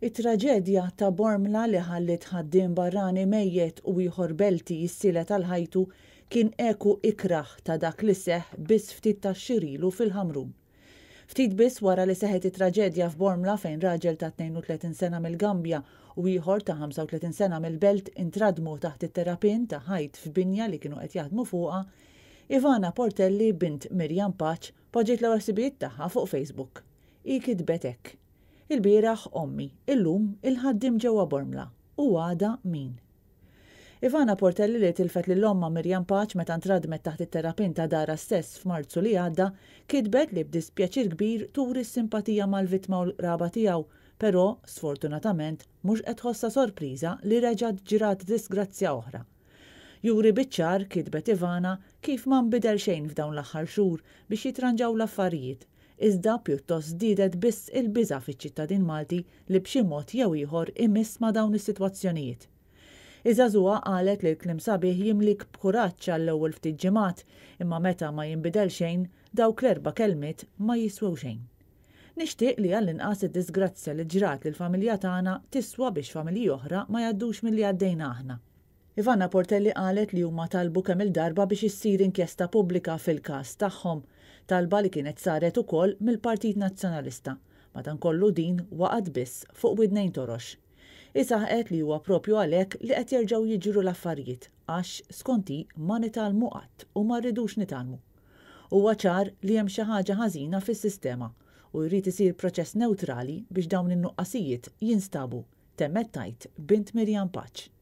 It-traġedja ta' Bormla li ħalliet ħaddiem barrani mejjet u ieħor Belti jissielet għal ħajtu kien eku ikrah ta' dak li seħħ biss ftit tax-xhur ilu fil-Ħamrun. Ftit biss wara li seħħet it-traġedja f'Bormla fejn raġel ta' 32 sena mill-Gambja u ieħor ta' 35 sena mill-Belt intradmu taħt it-terrapien ta' ħajt f'binja li kienu qed jaħdmu fuqha, Ivana Portelli bint Miriam Pace poġġiet l-ewwel ħsibijiet tagħha fuq Facebook. Hi kitbet hekk, Ilbieraħ ommi, illum il-ħaddiem ġewwa Bormla, u għada min? Ivana Portelli li tilfet lil ommha Miriam Pace meta ntradmet taħt it-terrapien ta' darha stess f'Marzu li għadda, kitbet li b'dispjaċir kbir turi s-simpatija mal-vittma u l-qraba tiegħu, però, sfortunatament, mhux qed tħossha sorpriża li reġgħet ġrat disgrazzja oħra. Juri biċ-ċar, kitbet Ivana, kif ma nbidel xejn f'dawn l-aħħar xhur biex jitranġaw l-affarijiet, iżda pjuttost żdiedet biss il-biża' fiċ-ċittadin Malti li b'xi mod jew ieħor imiss ma' dawn is-sitwazzjonijiet. Iż-żagħżugħa qalet li l-kliem sabiħ jimlik b'kuraġġ għall-ewwel ftit ġimgħat, imma meta ma jinbidel xejn, dawk l-erba' kelmiet ma jiswew xejn. Nixtieq li għall-inqas id-disgrazzja li ġrat lill-familja tagħna tiswa biex familji oħra ma jgħaddux milli għaddejna aħna. Ivana Portelli qalet li huma talbu kemm-il darba biex issir inkjesta pubblika fil-każ tagħhom, talba li kienet saret ukoll mill-Partit Nazzjonalista. Madankollu din waqgħet biss fuq widnejn torox. Hi saħqet li huwa propju għalhekk li qed jerġgħu jiġru l-affarijiet għax, skont hi, ma nitgħallmu qatt u ma rridux nitgħallmu. Huwa ċar li hemm xi ħaġa ħażina fis-sistema u jrid isir proċess newtrali biex dawn in-nuqqasijiet jinstabu, temmet tgħid bint Miriam Pace.